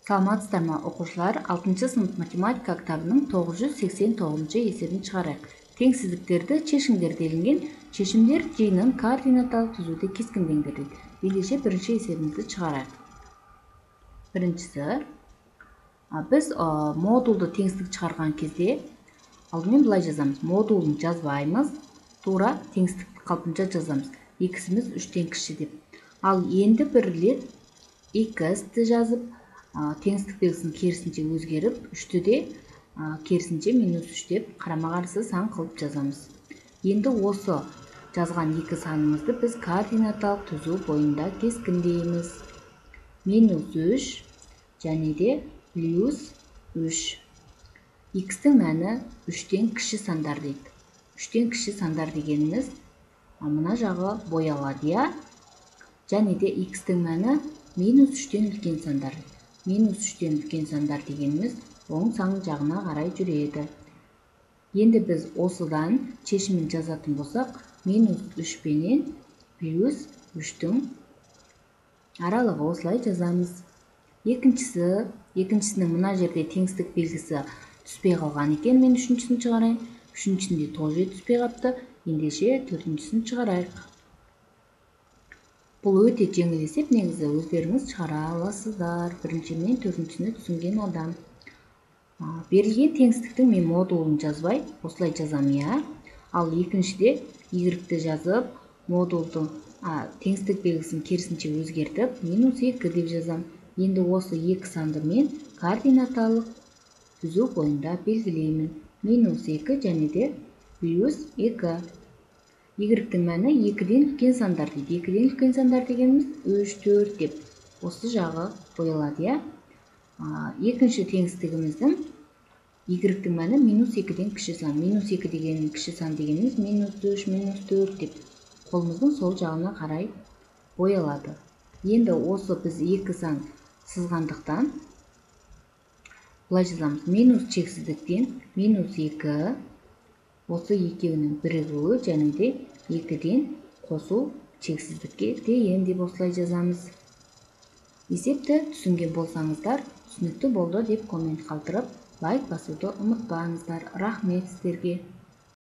Саламатсыздарбы окуучулар, 6-сынып математика китабынын 989 эсебин чыгарайык. Теңсиздиктерди чечиңдер делинген чечимдер жыйынын координаталык түзүүдө кескиндеңдер дейт. Биринчи эсебибизди чыгарайык. Биринчиси, биз модулду теңсиздик чыгарган кезде алдымен былай жазамыз. Модулун жазбайбыз, туура теңсиздик калпынча жазамыз. X'imiz 3тен кичи деп. Ал энди бир ирет x'ти жазып, теңсиздик белгисин керисинче өзгөрүп, 3тү де керисинче -3 деп карама-каршы сан кылып жазамыз. Энди осы жазган эки саныбызды биз координаталык түзүү боюнда кескиндейбиз. -3 және де +3. X'тин мәни 3тен кичи сандар дейт. 3тен кичи сандар дегенimiz мына жагы боялат, және де X'тин мәни -3тен үлкен сандар. -3тен үлкен сандар дегенimiz оң сан жагына карай жүрөт. Энди биз осудан чечимин жазатын болсак, -3 менен +3түн аралыгы осулай жазамыз. Экинчисинин мына жерде теңсиздик белгиси түспөй калган экен. Мен үчүнчүсүн чыгарайын. Үчүнчүсүндө тоже түспөй калыпты. Эндеше төртүнчүсүн чыгарайык. Бул өтө жеңил эсеп, негизи өздөрүңүз чыгара аласыздар. Биринчи менен төртүнчүсүнү түшүнгөн адам. Берилген теңсиздиктин мен модулун жазбай, осулай жазам, Ал экинчиде y жазып, модулдун теңсиздик белгисин керисинче өзгөртүп, -2 деп жазам. Энди осы эки санды мен координаталык түзүү боюнда белгилеймин. -2 және де +2. Y-тин мәни 2ден үлкен сандар дейт. 2ден үлкен сандар дегенimiz 3, 4 деп осы жагы боялат, Экинчи теңсиздигимиздин Y-тин мәни -2ден кичи сан. -2 деген кичи сан дегенimiz -3, -4 деп колубуздун сол жагына карай боялады. Энди осы биз эки сан сызгандыктан былай жазамыз. Минус чексиздиктен -2 осы экөөнүн биригүү және де 2ден косуу чексиздикке тең деп осулай жазамыз. Эсепти түшүнгөн болсоңуздар, түшүнүктүү болду деп коммент калтырып, лайк басууду унутпаңыздар. Рахмет сиздерге.